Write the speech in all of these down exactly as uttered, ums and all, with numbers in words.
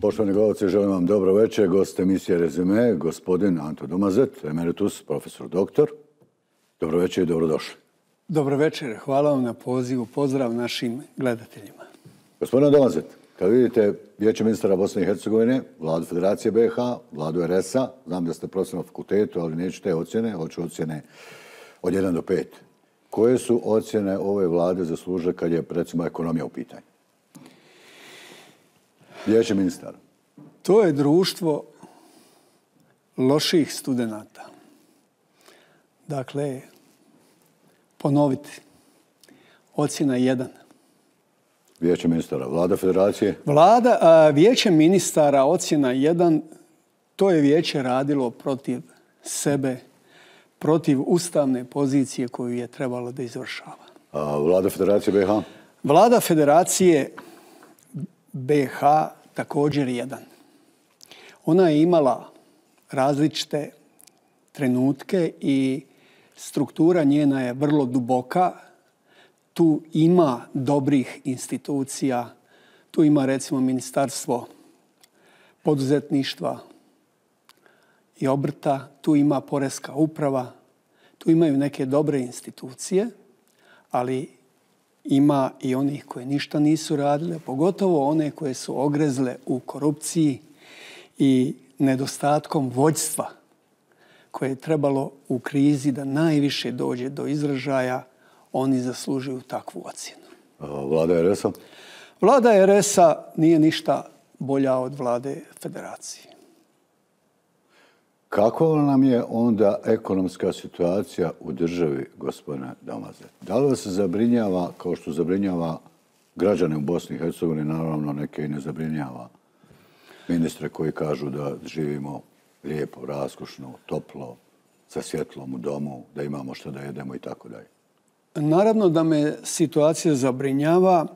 Poštovani gledalci, želim vam dobro večer. Gost emisije Rezime, gospodin Anto Domazet, emeritus, profesor doktor. Dobro večer i dobrodošli. Dobro večer, hvala vam na pozivu. Pozdrav našim gledateljima. Gospodin Domazet, kad vidite Vijeće ministara Bosne i Hercegovine, vladu Federacije B i H, vladu er es a, znam da ste profesor na fakultetu, ali neću te ocjene, hoću ocjene od jedan do pet. Koje su ocjene ove vlade zaslužile kad je, recimo, ekonomija u pitanju? Vijeće ministara. To je društvo loših studenata. Dakle, ponoviti. Ocjena jedan. Vijeće ministara. Vlada Federacije? Vlada, a, Vijeće ministara, ocjena jedan, to je vijeće radilo protiv sebe, protiv ustavne pozicije koju je trebalo da izvršava. A Vlada Federacije B i H? Vlada Federacije B i H također jedan. Ona je imala različite trenutke i struktura njena je vrlo duboka. Tu ima dobrih institucija. Tu ima recimo Ministarstvo poduzetništva i obrta. Tu ima Poreska uprava. Tu imaju neke dobre institucije, ali ima i onih koje ništa nisu radile, pogotovo one koje su ogrezle u korupciji i nedostatkom vođstva koje je trebalo u krizi da najviše dođe do izražaja. Oni zaslužuju takvu ocjenu. Vlada er es a? Vlada er es a nije ništa bolja od vlade Federacije. Kako nam je onda ekonomska situacija u državi, gospodine Domazet? Da li vas zabrinjava, kao što zabrinjava građane u Bosni i Hercegovini, naravno neke i ne zabrinjava ministre koji kažu da živimo lijepo, raskošno, toplo, sa svjetlom u domu, da imamo što da jedemo i tako dalje? Naravno da me situacija zabrinjava,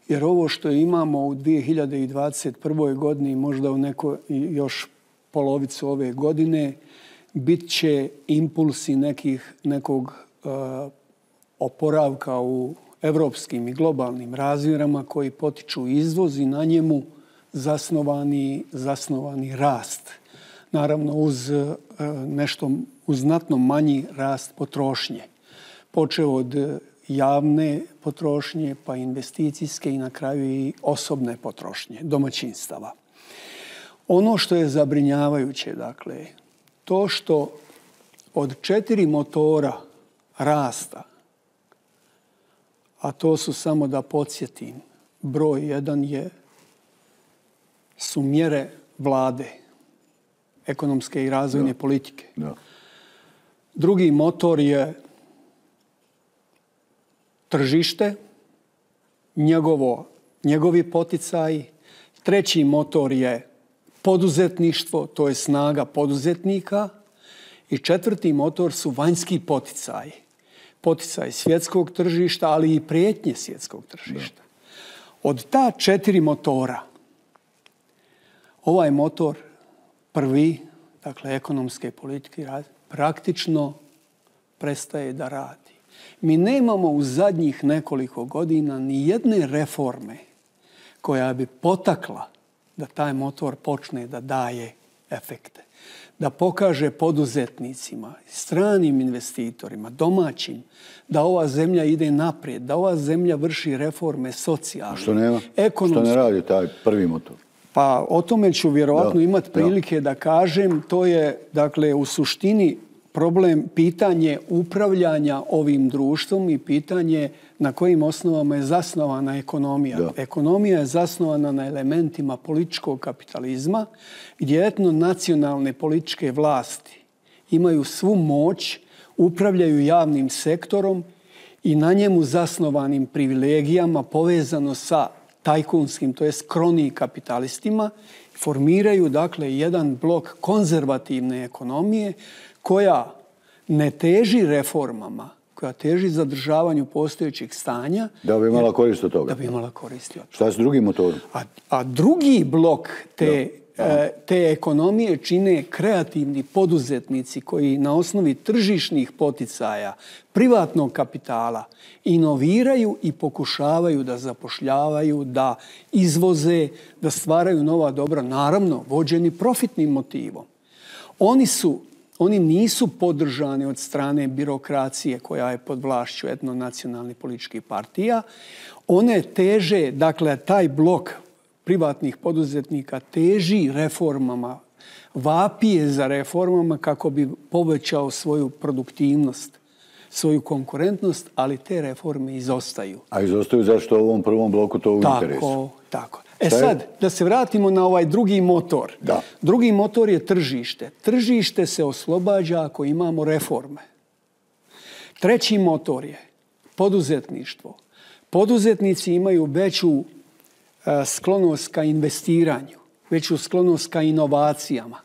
jer ovo što imamo u dvije hiljade dvadeset prvoj godini, možda u neko još polovicu ove godine, bit će impulsi nekih, nekog uh, oporavka u evropskim i globalnim razmjerama koji potiču izvoz i na njemu zasnovani, zasnovani rast. Naravno uz uh, nešto, uz znatno manji rast potrošnje. Počeo od javne potrošnje, pa investicijske i na kraju i osobne potrošnje, domaćinstava. Ono što je zabrinjavajuće, dakle, to što od četiri motora rasta, a to su, samo da podsjetim, broj jedan je, su mjere vlade, ekonomske i razvojne da. politike. Da. Drugi motor je tržište, njegovo, njegovi poticaji. Treći motor je poduzetništvo, to je snaga poduzetnika. I četvrti motor su vanjski poticaji. Poticaj svjetskog tržišta, ali i prijetnje svjetskog tržišta. Da. Od ta četiri motora, ovaj motor prvi, dakle ekonomske politike, praktično prestaje da radi. Mi nemamo u zadnjih nekoliko godina ni jedne reforme koja bi potakla da taj motor počne da daje efekte. Da pokaže poduzetnicima, stranim investitorima, domaćim, da ova zemlja ide naprijed, da ova zemlja vrši reforme socijalne, što nema? ekonomske. Što ne radi taj prvi motor? Pa o tome ću vjerojatno imati prilike da. da kažem. To je, dakle, u suštini problem, pitanje upravljanja ovim društvom i pitanje na kojim osnovama je zasnovana ekonomija. Da. Ekonomija je zasnovana na elementima političkog kapitalizma, gdje etno-nacionalne političke vlasti imaju svu moć, upravljaju javnim sektorom i na njemu zasnovanim privilegijama povezano sa tajkunskim, to jest kroni kapitalistima, formiraju, dakle, jedan blok konzervativne ekonomije koja ne teži reformama, koja teži zadržavanju postojećih stanja. Da bi imala korist od toga. Da bi imala korist od toga. Šta je s drugim motorom? A, a drugi blok te te ekonomije čine kreativni poduzetnici koji na osnovi tržišnih poticaja, privatnog kapitala, inoviraju i pokušavaju da zapošljavaju, da izvoze, da stvaraju nova dobra, naravno vođeni profitnim motivom. Oni su Oni nisu podržani od strane birokracije koja je pod vlašću etnonacionalnih političkih partija. One teže, dakle, taj blok privatnih poduzetnika teži reformama, vapije za reformama kako bi povećao svoju produktivnost, svoju konkurentnost, ali te reforme izostaju. A izostaju zašto u ovom prvom bloku to u tako, interesu? Tako. E sad, da se vratimo na ovaj drugi motor. Da. Drugi motor je tržište. Tržište se oslobađa ako imamo reforme. Treći motor je poduzetništvo. Poduzetnici imaju veću sklonost ka investiranju, veću sklonost ka inovacijama,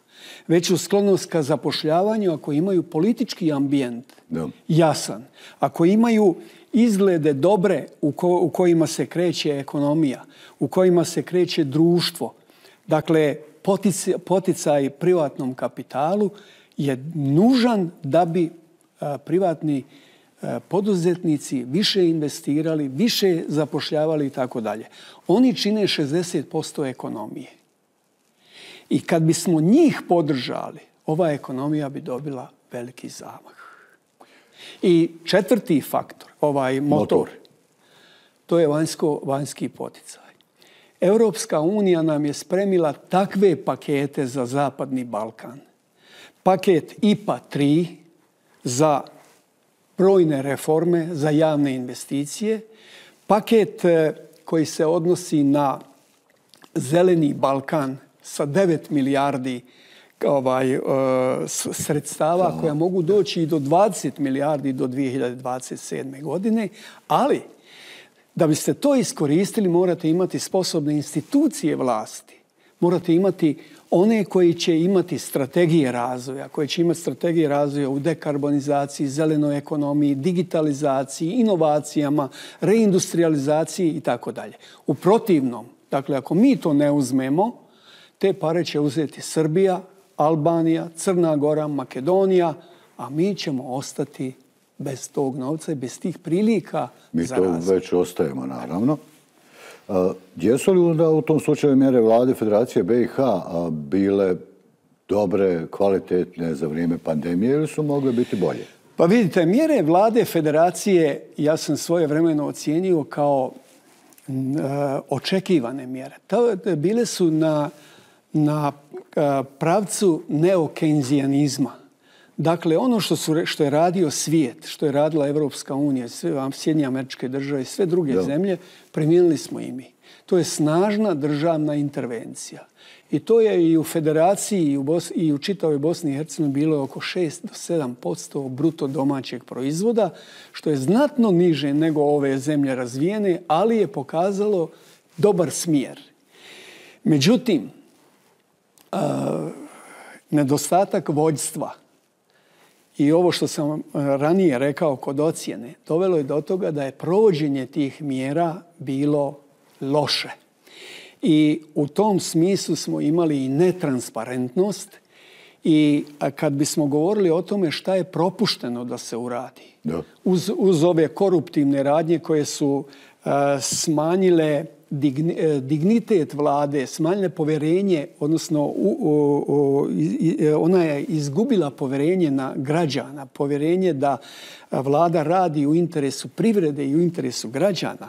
veću sklonost ka zapošljavanju ako imaju politički ambijent da. jasan, ako imaju izglede dobre u, ko, u kojima se kreće ekonomija, u kojima se kreće društvo. Dakle, poticaj, poticaj privatnom kapitalu je nužan da bi a, privatni a, poduzetnici više investirali, više zapošljavali i tako dalje. Oni čine šezdeset posto ekonomije. I kad bismo njih podržali, ova ekonomija bi dobila veliki zamah. I četvrti faktor, ovaj motor, motor. to je vanjsko, vanjski poticaj. Europska unija nam je spremila takve pakete za Zapadni Balkan. Paket I P A tri za brojne reforme, za javne investicije. Paket koji se odnosi na Zeleni Balkan sa devet milijardi ovaj, sredstava koja mogu doći i do dvadeset milijardi do dvije hiljade dvadeset sedme. godine, ali da biste to iskoristili morate imati sposobne institucije vlasti. Morate imati one koji će imati strategije razvoja, koje će imati strategije razvoja u dekarbonizaciji, zelenoj ekonomiji, digitalizaciji, inovacijama, reindustrializaciji i tako dalje. U protivnom, dakle, ako mi to ne uzmemo, te pare će uzeti Srbija, Albanija, Crna Gora, Makedonija, a mi ćemo ostati bez tog novca i bez tih prilika mi za razvoj. Mi to već ostajemo, naravno. A, jesu li onda u tom slučaju mjere vlade Federacije B i H a, bile dobre, kvalitetne za vrijeme pandemije ili su mogle biti bolje? Pa vidite, mjere vlade Federacije ja sam svojevremeno ocijenio kao uh, očekivane mjere. To, bile su na, na uh, pravcu neokejnzijanizma. Dakle, ono što, su, što je radio svijet, što je radila Evropska unija, sve Sjedinjene Američke Države i sve druge da. zemlje, primijenili smo i mi. To je snažna državna intervencija. I to je i u Federaciji i u, Bos- i u čitavoj Bosni i Hercegovini bilo oko šest do sedam posto bruto domaćeg proizvoda, što je znatno niže nego ove zemlje razvijene, ali je pokazalo dobar smjer. Međutim, uh, nedostatak vođstva i ovo što sam ranije rekao kod ocjene, dovelo je do toga da je provođenje tih mjera bilo loše. I u tom smislu smo imali i netransparentnost i kad bismo govorili o tome šta je propušteno da se uradi, da. Uz, uz ove koruptivne radnje koje su uh, smanjile digni, dignitet vlade, smanjile povjerenje, odnosno u, u, u, ona je izgubila povjerenje na građana, povjerenje da vlada radi u interesu privrede i u interesu građana.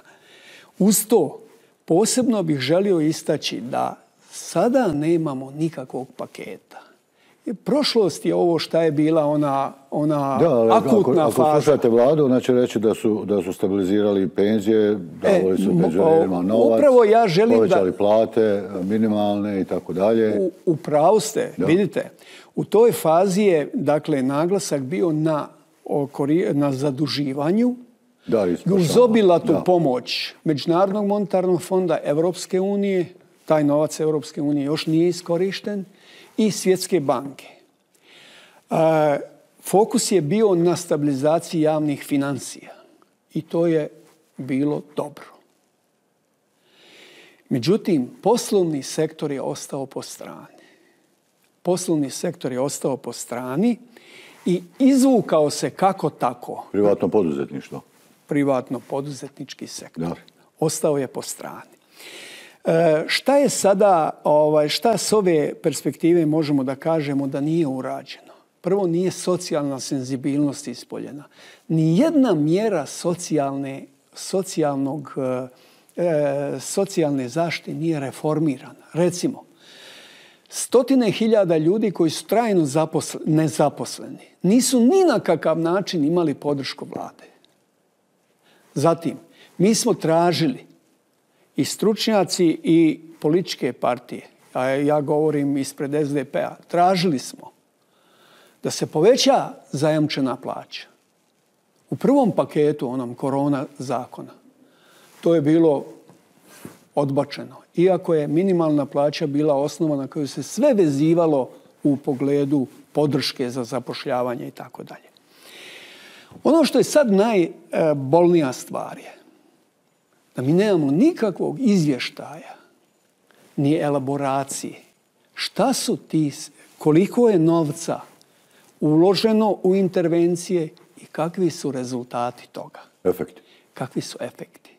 Uz to, posebno bih želio istaći da sada nemamo nikakvog paketa. Prošlost je ovo šta je bila ona, ona da, ali, akutna ako, faza. Ako slušate vladu, ona će reći da su, da su stabilizirali penzije, davali su penzionerima novac, upravo ja želim povećali da, plate, minimalne i tako dalje. U, u pravu ste, da. Vidite. U toj fazi je dakle, naglasak bio na, na zaduživanju, Da, uz obilatu da. pomoć Međunarodnog monetarnog fonda, Evropske unije, taj novac Evropske unije još nije iskorišten, i Svjetske banke. E, fokus je bio na stabilizaciji javnih financija i to je bilo dobro. Međutim, poslovni sektor je ostao po strani. Poslovni sektor je ostao po strani i izvukao se kako tako. Privatno poduzetništvo. Privatno poduzetnički sektor. Da. Ostao je po strani. E, šta je sada, ovaj, šta s ove perspektive možemo da kažemo da nije urađeno? Prvo, nije socijalna senzibilnost ispoljena. Nijedna mjera socijalne, socijalnog, e, socijalne zaštite nije reformirana. Recimo, stotine hiljada ljudi koji su trajno zaposle, nezaposleni nisu ni na kakav način imali podršku vlade. Zatim, mi smo tražili i stručnjaci i političke partije, a ja govorim ispred es de pe a, tražili smo da se poveća zajamčena plaća. U prvom paketu onom korona zakona to je bilo odbačeno. Iako je minimalna plaća bila osnova na koju se sve vezivalo u pogledu podrške za zapošljavanje i tako dalje. Ono što je sad najbolnija stvar je da mi nemamo nikakvog izvještaja ni elaboracije. Šta su ti, koliko je novca uloženo u intervencije i kakvi su rezultati toga? Efekti. Kakvi su efekti?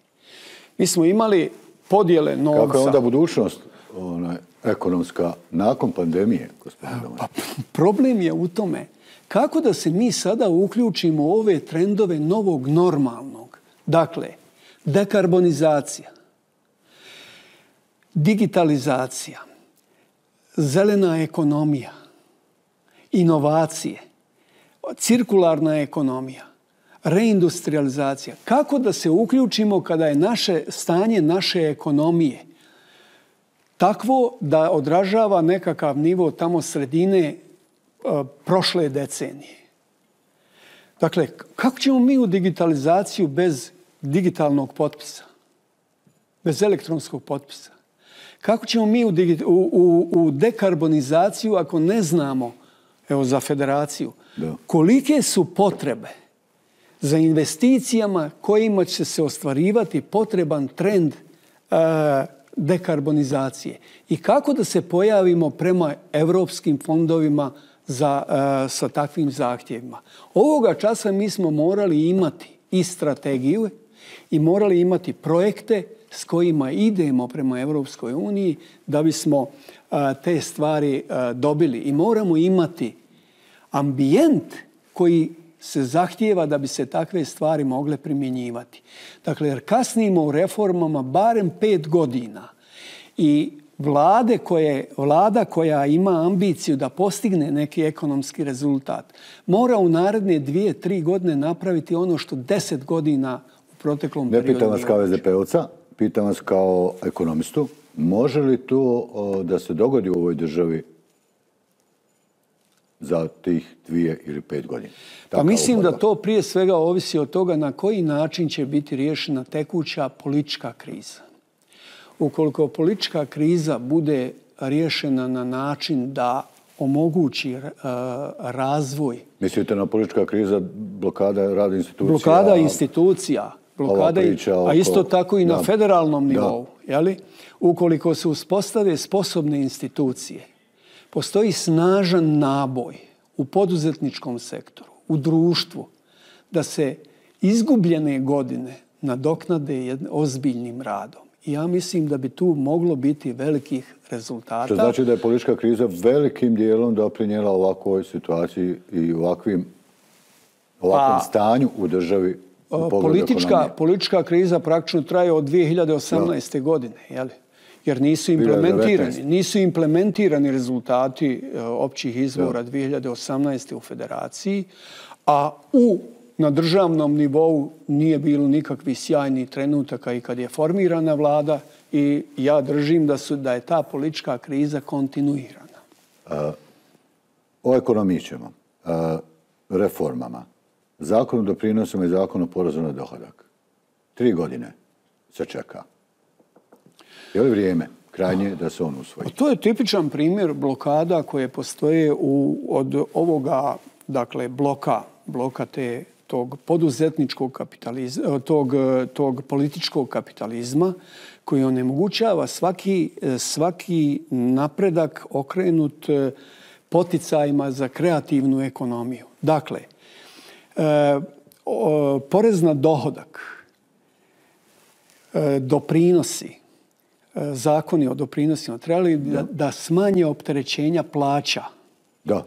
Mi smo imali podjele novca. Kako je onda budućnost ona, ekonomska nakon pandemije, gospodine Domagoj? Pa, problem je u tome kako da se mi sada uključimo u ove trendove novog normalnog. Dakle, dekarbonizacija, digitalizacija, zelena ekonomija, inovacije, cirkularna ekonomija, reindustrializacija. Kako da se uključimo kada je naše stanje naše ekonomije takvo da odražava nekakav nivo tamo sredine uh, prošle decenije? Dakle, kako ćemo mi u digitalizaciju bez digitalnog potpisa, bez elektronskog potpisa? Kako ćemo mi u, u, u, u dekarbonizaciju ako ne znamo, evo za federaciju, da. kolike su potrebe za investicijama kojima će se ostvarivati potreban trend e, dekarbonizacije i kako da se pojavimo prema evropskim fondovima za, e, sa takvim zahtjevima. Ovoga časa mi smo morali imati i strategiju i morali imati projekte s kojima idemo prema Evropskoj uniji da bismo a, te stvari a, dobili. I moramo imati ambijent koji se zahtijeva da bi se takve stvari mogle primjenjivati. Dakle, jer kasnimo u reformama barem pet godina i vlade koje, vlada koja ima ambiciju da postigne neki ekonomski rezultat mora u naredne dvije, tri godine napraviti ono što deset godina u proteklom periodu. Ne pitam vas kao es de pe ovca, pitam vas kao ekonomistu, može li to da se dogodi u ovoj državi za tih dvije ili pet godina? Pa mislim da to prije svega ovisi od toga na koji način će biti riješena tekuća politička kriza. Ukoliko politička kriza bude riješena na način da omogući uh, razvoj. Mislite na politička kriza, blokada rada institucija? Blokada institucija, blokada i, a isto tako i na da. federalnom nivou. Jeli? Ukoliko se uspostave sposobne institucije, postoji snažan naboj u poduzetničkom sektoru, u društvu, da se izgubljene godine nadoknade ozbiljnim radom. I ja mislim da bi tu moglo biti velikih rezultata. Što znači da je politička kriza velikim dijelom doprinijela ovakvoj situaciji i ovakvim, ovakvom pa, stanju u državi u politička, politička kriza praktično traje od dvije hiljade osamnaeste. Da. godine, jeli? Jer nisu implementirani, nisu implementirani rezultati općih izbora da. dvije hiljade osamnaeste. u federaciji, a u na državnom nivou nije bilo nikakvih sjajnih trenutaka i kad je formirana vlada i ja držim da, su, da je ta politička kriza kontinuirana. Uh, o ekonomiji ćemo, uh, reformama, zakon o doprinosima i zakon o porezu na dohodak. Tri godine se čeka. Je li vrijeme krajnje da se on usvoji? To je tipičan primjer blokada koje postoje u, od ovoga dakle, bloka, bloka te tog poduzetničkog kapitalizma, tog, tog političkog kapitalizma koji onemogućava svaki, svaki napredak okrenut poticajima za kreativnu ekonomiju. Dakle, porez na dohodak, doprinosi, zakoni o doprinosima trebali da, da smanje opterećenja plaća. Da.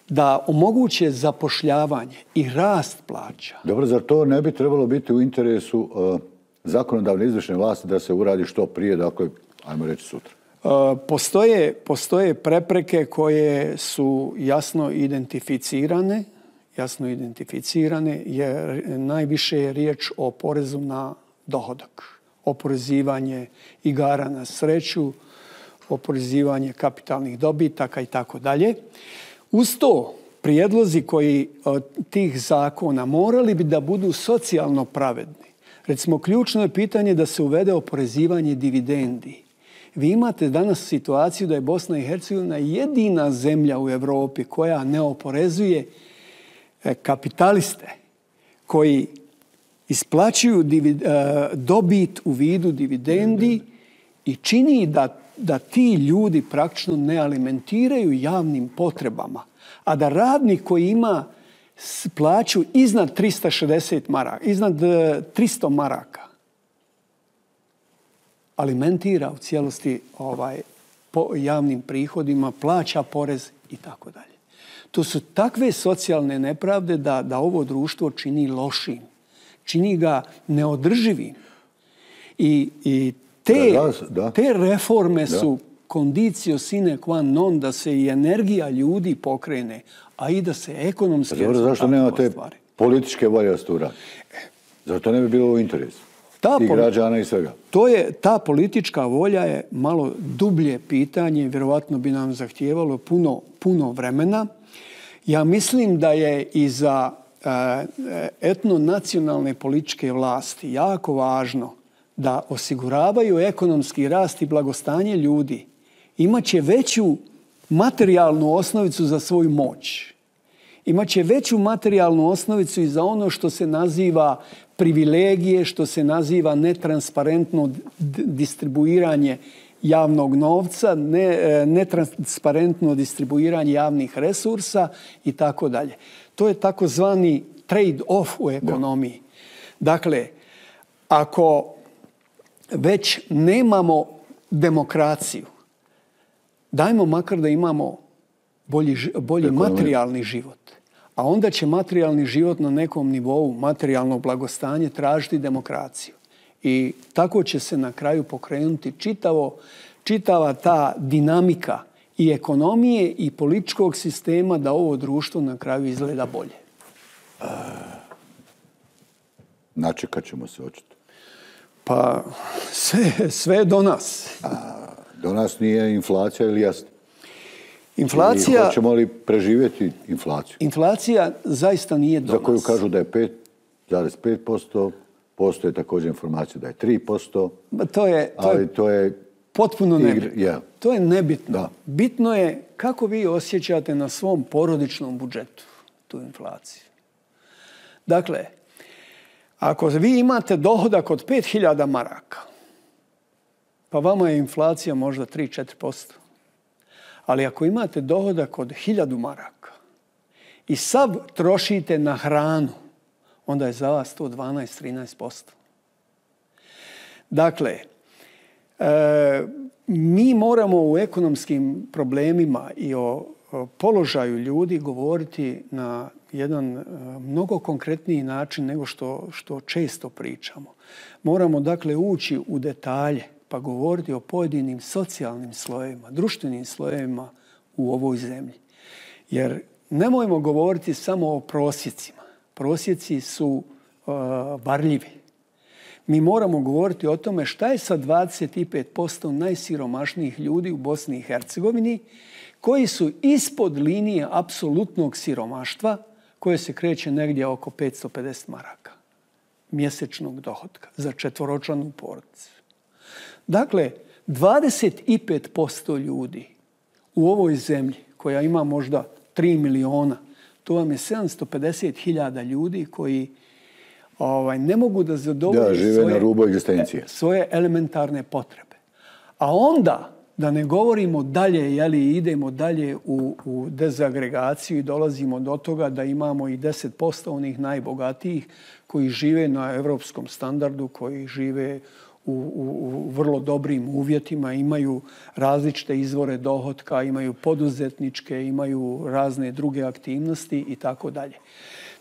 Da omoguće zapošljavanje i rast plaća. Dobro, zar to ne bi trebalo biti u interesu uh, zakonodavne izvršne vlasti da se uradi što prije, dakle, ajmo reći sutra? Uh, postoje, postoje prepreke koje su jasno identificirane, jasno identificirane, jer najviše je riječ o porezu na dohodak. Oporezivanje igara na sreću, oporezivanje kapitalnih dobitaka i tako dalje. Uz to, prijedlozi koji od tih zakona morali bi da budu socijalno pravedni. Recimo, ključno je pitanje da se uvede oporezivanje dividendi. Vi imate danas situaciju da je Bosna i Hercegovina jedina zemlja u Europi koja ne oporezuje kapitaliste koji isplaćuju dobit u vidu dividendi i čini da, da ti ljudi praktično ne alimentiraju javnim potrebama, a da radnik koji ima plaću iznad tristo šezdeset maraka, iznad tristo maraka, alimentira u cijelosti ovaj, po javnim prihodima, plaća porez i tako dalje. To su takve socijalne nepravde da, da ovo društvo čini lošim, čini ga neodrživim. I, i te, da, da. te reforme da. su condicio sine qua non da se i energija ljudi pokrene, a i da se ekonomski Dobro, zašto nemate političke volje da se to uradi? Zato ne bi bilo u interesu. Ta i građana i svega. To je, ta politička volja je malo dublje pitanje, vjerovatno bi nam zahtijevalo puno, puno vremena. Ja mislim da je i za uh, etnonacionalne političke vlasti jako važno da osiguravaju ekonomski rast i blagostanje ljudi. Imaće veću materijalnu osnovicu za svoju moć. Imaće veću materijalnu osnovicu i za ono što se naziva privilegije, što se naziva netransparentno distribuiranje javnog novca, ne, netransparentno distribuiranje javnih resursa i tako dalje. To je takozvani trade-off u ekonomiji. Da. Dakle, ako već nemamo demokraciju, dajmo makar da imamo bolji, bolji materijalni život. A onda će materijalni život na nekom nivou, materijalno blagostanje, tražiti demokraciju. I tako će se na kraju pokrenuti čitavo, čitava ta dinamika i ekonomije i političkog sistema da ovo društvo na kraju izgleda bolje. Načekat ćemo se očito. Pa sve, sve do nas. A, do nas nije inflacija ili jasno? Inflacija... I hoćemo li preživjeti inflaciju? Inflacija zaista nije do nas. Za koju kažu da je pet zarez pet posto, postoje također informacija da je tri posto. To je, to ali je to je potpuno nebitno. Yeah. To je nebitno. Da. Bitno je kako vi osjećate na svom porodičnom budžetu tu inflaciju. Dakle, ako vi imate dohodak od pet hiljada maraka, pa vama je inflacija možda tri do četiri posto. Ali ako imate dohodak od hiljadu maraka i sav trošite na hranu, onda je za vas to dvanaest do trinaest posto. Dakle, e, mi moramo u ekonomskim problemima i o, o položaju ljudi govoriti na jedan e, mnogo konkretniji način nego što, što često pričamo. Moramo dakle ući u detalje pa govoriti o pojedinim socijalnim slojevima, društvenim slojevima u ovoj zemlji. Jer nemojmo govoriti samo o prosjecima. Prosjeci su uh, varljivi. Mi moramo govoriti o tome šta je sa dvadeset pet posto najsiromašnijih ljudi u Bosni i Hercegovini koji su ispod linije apsolutnog siromaštva koje se kreće negdje oko petsto pedeset maraka mjesečnog dohotka za četvoročlanu porodicu. Dakle, dvadeset pet posto ljudi u ovoj zemlji, koja ima možda tri miliona, To vam je sedamsto pedeset hiljada ljudi koji ovaj, ne mogu da zadovolje da, žive svoje, na rubu egzistencije. svoje elementarne potrebe. A onda, da ne govorimo dalje, jeli, idemo dalje u, u dezagregaciju i dolazimo do toga da imamo i deset posto onih najbogatijih koji žive na evropskom standardu, koji žive u, u, u vrlo dobrim uvjetima, imaju različite izvore dohotka, imaju poduzetničke, imaju razne druge aktivnosti i tako dalje.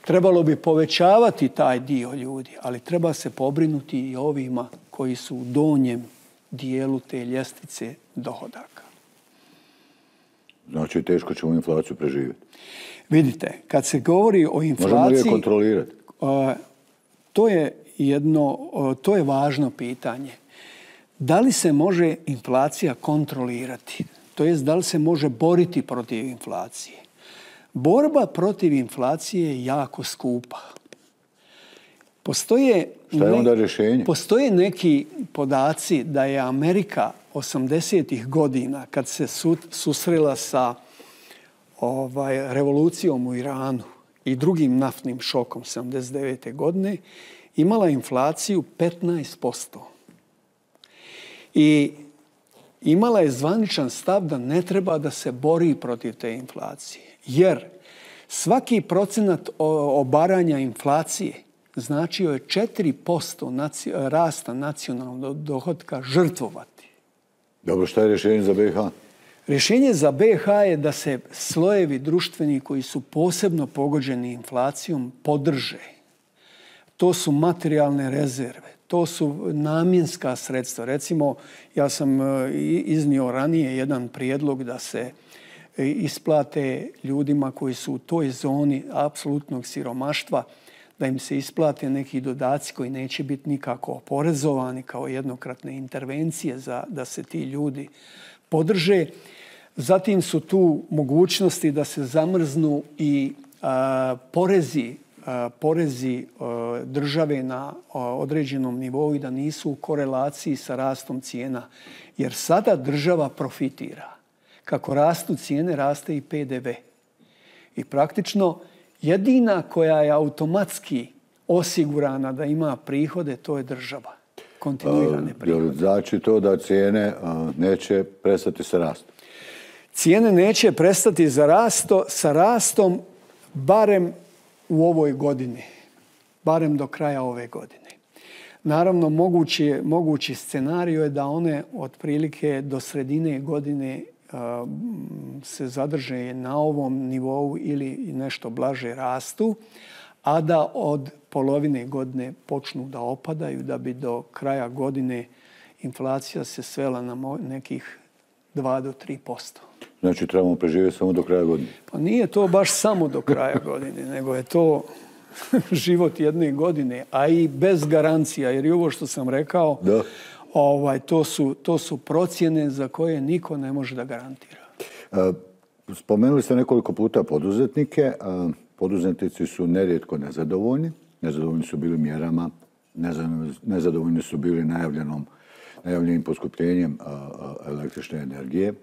Trebalo bi povećavati taj dio ljudi, ali treba se pobrinuti i ovima koji su u donjem dijelu te ljestvice dohodaka. Znači, teško ćemo inflaciju preživjeti. Vidite, kad se govori o inflaciji... Možemo li je kontrolirati? To je jedno, to je važno pitanje. Da li se može inflacija kontrolirati? To jest, da li se može boriti protiv inflacije? Borba protiv inflacije je jako skupa. Postoje, Šta je onda rješenje? Postoje neki podaci da je Amerika osamdesetih godina, kad se su, susrela sa ovaj, revolucijom u Iranu i drugim naftnim šokom sedamdeset devete godine, imala inflaciju petnaest posto. I imala je zvaničan stav da ne treba da se bori protiv te inflacije. Jer svaki procenat obaranja inflacije značio je četiri posto rasta nacionalnog dohotka žrtvovati. Dobro, šta je rješenje za B i H? Rješenje za B i H je da se slojevi društveni koji su posebno pogođeni inflacijom podrže. To su materijalne rezerve, to su namjenska sredstva. Recimo, ja sam iznio ranije jedan prijedlog da se isplate ljudima koji su u toj zoni apsolutnog siromaštva, da im se isplate neki dodaci koji neće biti nikako oporezovani kao jednokratne intervencije za da se ti ljudi podrže. Zatim su tu mogućnosti da se zamrznu i a, porezi, a, porezi a, države na a, određenom nivou i da nisu u korelaciji sa rastom cijena. Jer sada država profitira. Kako rastu cijene, raste i P D V. I praktično jedina koja je automatski osigurana da ima prihode, to je država. Kontinuirane prihode. Znači to da cijene neće prestati sa rastom? Cijene neće prestati za rasto, sa rastom barem u ovoj godini. Barem do kraja ove godine. Naravno, mogući, mogući scenarij je da one otprilike do sredine godine se zadrže na ovom nivou ili nešto blaže rastu, a da od polovine godine počnu da opadaju, da bi do kraja godine inflacija se svela na nekih dva do tri posto. Znači trebamo preživjeti samo do kraja godine? Pa nije to baš samo do kraja godine, nego je to život jedne godine, a i bez garancija, jer i ovo što sam rekao, da. Ovaj, to su, to su procjene za koje niko ne može da garantira. Spomenuli ste nekoliko puta poduzetnike. Poduzetnici su nerijetko nezadovoljni. Nezadovoljni su bili mjerama, nezadovoljni su bili najavljenom, najavljenim poskupljenjem električne energije.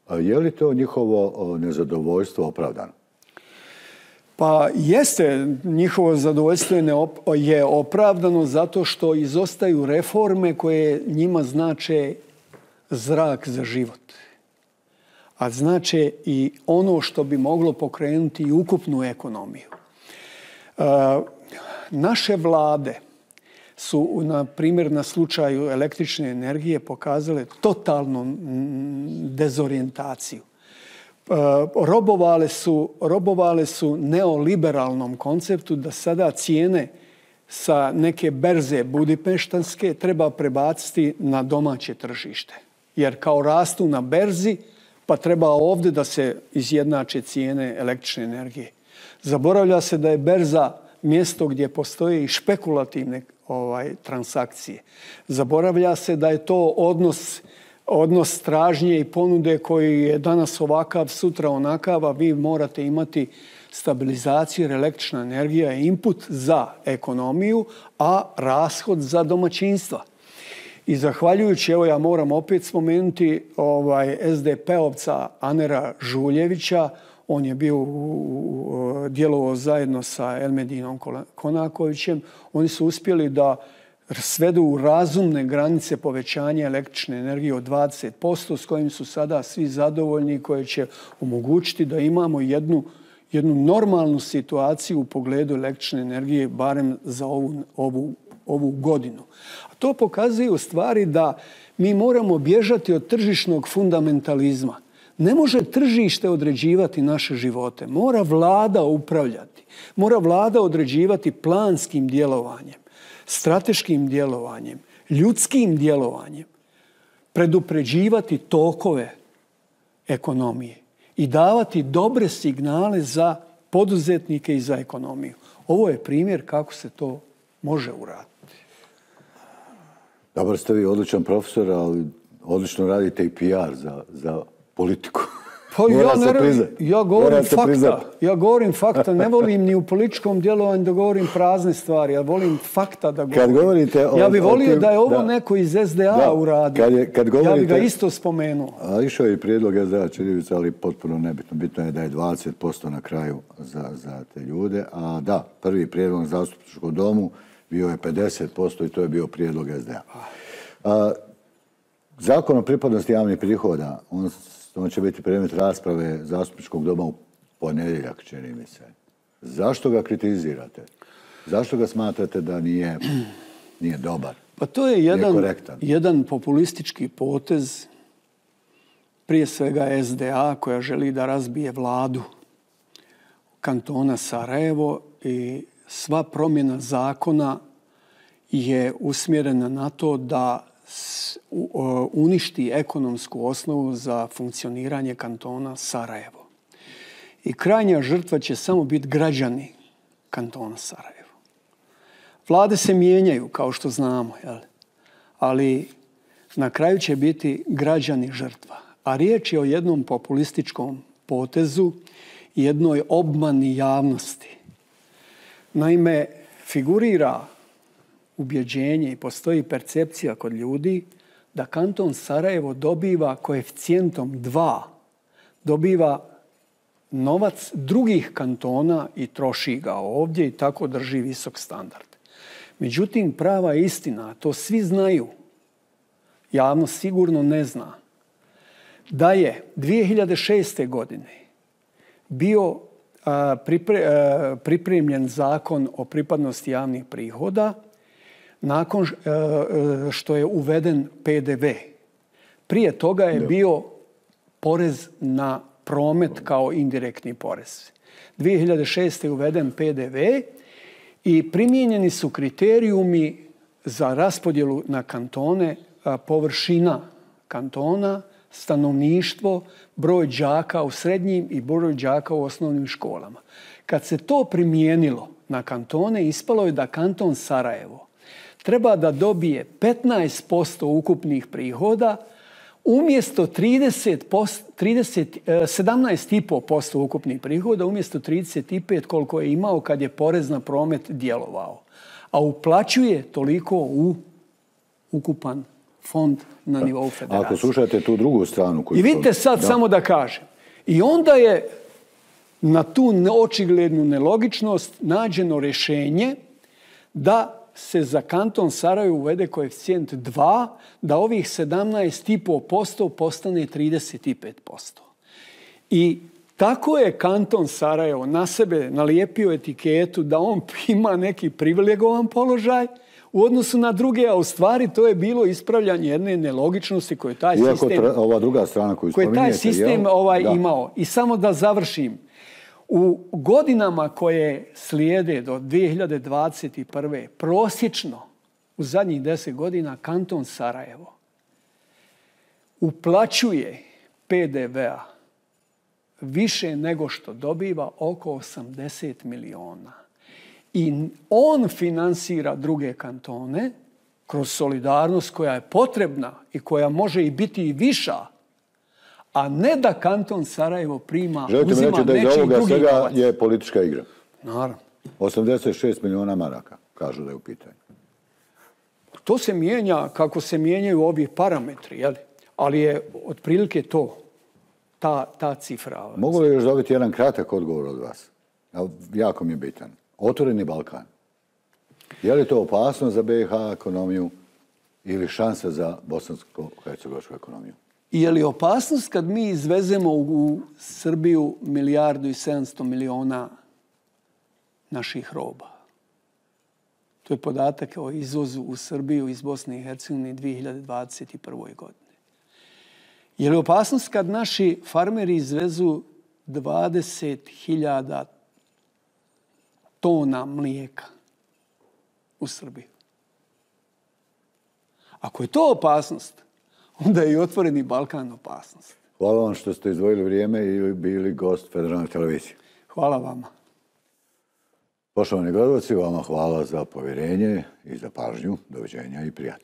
Je li to njihovo nezadovoljstvo opravdano? Pa jeste, njihovo zadovoljstvo je opravdano zato što izostaju reforme koje njima znače zrak za život. A znače i ono što bi moglo pokrenuti i ukupnu ekonomiju. Naše vlade su, na primjer, na slučaju električne energije pokazale totalnu dezorijentaciju. Robovale su, robovale su neoliberalnom konceptu da sada cijene sa neke berze budimpeštanske treba prebaciti na domaće tržište. Jer kao rastu na berzi, pa treba ovdje da se izjednače cijene električne energije. Zaboravlja se da je berza mjesto gdje postoje i špekulativne ovaj, transakcije. Zaboravlja se da je to odnos odnos tražnje i ponude koji je danas ovakav, sutra onakav, a vi morate imati stabilizaciju jer električna energija je input za ekonomiju, a rashod za domaćinstva. I zahvaljujući, evo ja moram opet spomenuti ovaj, es de pe ovca Anera Žuljevića, On je bio u, djelovao zajedno sa Elmedinom Konakovićem. Oni su uspjeli da svedu u razumne granice povećanja električne energije od dvadeset posto s kojim su sada svi zadovoljni, koje će omogućiti da imamo jednu, jednu normalnu situaciju u pogledu električne energije, barem za ovu, ovu, ovu godinu. A to pokazuje u stvari da mi moramo bježati od tržišnog fundamentalizma. Ne može tržište određivati naše živote. Mora vlada upravljati. Mora vlada određivati planskim djelovanjem, strateškim djelovanjem, ljudskim djelovanjem, predupređivati tokove ekonomije i davati dobre signale za poduzetnike i za ekonomiju. Ovo je primjer kako se to može uraditi. Dobro ste vi odličan profesor, ali odlično radite i P R za, za politiku. Pa ja, ne, ja govorim fakta. Ja govorim fakta. Ne volim ni u političkom djelovanju da govorim prazne stvari. Ja volim fakta da govorim. Kad govorite o, ja bih volio tim, da je ovo da, neko iz S D A da, uradio. Kad je, kad govorite, ja bih ga isto spomenuo. A išao je i prijedlog S D A Čirilica, ali potpuno nebitno. Bitno je da je dvadeset posto na kraju za, za te ljude. A da, prvi prijedlog na zastupničkom domu bio je pedeset posto i to je bio prijedlog S D A. A, Zakon o pripadnosti javnih prihoda, on, on će biti predmet rasprave zastupničkog doma u ponedjeljak, čini mi se. Zašto ga kritizirate? Zašto ga smatrate da nije, nije dobar? Pa to je jedan, jedan populistički potez, prije svega S D A, koja želi da razbije vladu kantona Sarajevo i sva promjena zakona je usmjerena na to da uništi ekonomsku osnovu za funkcioniranje kantona Sarajevo. I krajnja žrtva će samo biti građani kantona Sarajevo. Vlade se mijenjaju, kao što znamo, jel? Ali na kraju će biti građani žrtva. A riječ je o jednom populističkom potezu, jednoj obmani javnosti. Naime, figurira ubjeđenje i postoji percepcija kod ljudi da kanton Sarajevo dobiva koeficijentom dva, dobiva novac drugih kantona i troši ga ovdje i tako drži visok standard. Međutim, prava istina, to svi znaju, javnost sigurno ne zna, da je dvije hiljade šeste. godine bio a, pripre, a, pripremljen zakon o pripadnosti javnih prihoda nakon što je uveden P D V. Prije toga je bio porez na promet kao indirektni porez. dvije hiljade šeste. je uveden P D V i primijenjeni su kriterijumi za raspodjelu na kantone, površina kantona, stanovništvo, broj đaka u srednjim i broj đaka u osnovnim školama. Kad se to primijenilo na kantone, ispalo je da kanton Sarajevo treba da dobije petnaest posto ukupnih prihoda umjesto trideset posto, trideset, sedamnaest zarez pet posto ukupnih prihoda umjesto trideset pet posto koliko je imao kad je porez na promet djelovao. A uplaćuje toliko u ukupan fond na nivou federacije. Ako slušate tu drugu stranu... I vidite sad da. samo da kažem. I onda je na tu očiglednu nelogičnost nađeno rješenje da se za kanton Sarajevo uvede koeficijent dva, da ovih sedamnaest zarez pet posto postane trideset pet posto. I tako je kanton Sarajevo na sebe nalijepio etiketu da on ima neki privilegovan položaj u odnosu na druge, a u stvari to je bilo ispravljanje jedne nelogičnosti koju taj Iako sistem, tra, ova druga strana koju koje taj sistem ovaj imao. I samo da završim. U godinama koje slijede do dvije hiljade dvadeset prve. prosječno u zadnjih deset godina kanton Sarajevo uplaćuje P D V-a više nego što dobiva, oko osamdeset miliona. I on finansira druge kantone kroz solidarnost koja je potrebna i koja može i biti i viša, a ne da kanton Sarajevo prima, Želite uzima reći da nečiji ovoga drugi svega novac. Je politička igra. Naravno. osamdeset šest miliona maraka, kažu da je u pitanju. To se mijenja kako se mijenjaju ovi parametri, jel? Ali je otprilike to. ta, ta cifra. Mogu li još dobiti jedan kratak odgovor od vas? Jako mi je bitan. Otvoreni Balkan. Je li to opasno za B i H ekonomiju ili šansa za bosansko-hercegovačku ekonomiju? Je li opasnost kad mi izvezemo u Srbiju milijardu i sedamsto miliona naših roba? To je podatak o izvozu u Srbiju iz Bosne i Hercegovine dvije hiljade dvadeset prve. godine. Je li opasnost kad naši farmeri izvezu dvadeset hiljada tona mlijeka u Srbiju? Ako je to opasnost, onda je i otvoreni Balkan opasnost. Hvala vam što ste izdvojili vrijeme i bili gost Federalne televizije. Hvala vama. Poštovani gledalci, vama hvala za povjerenje i za pažnju. Doviđenja i prijatno.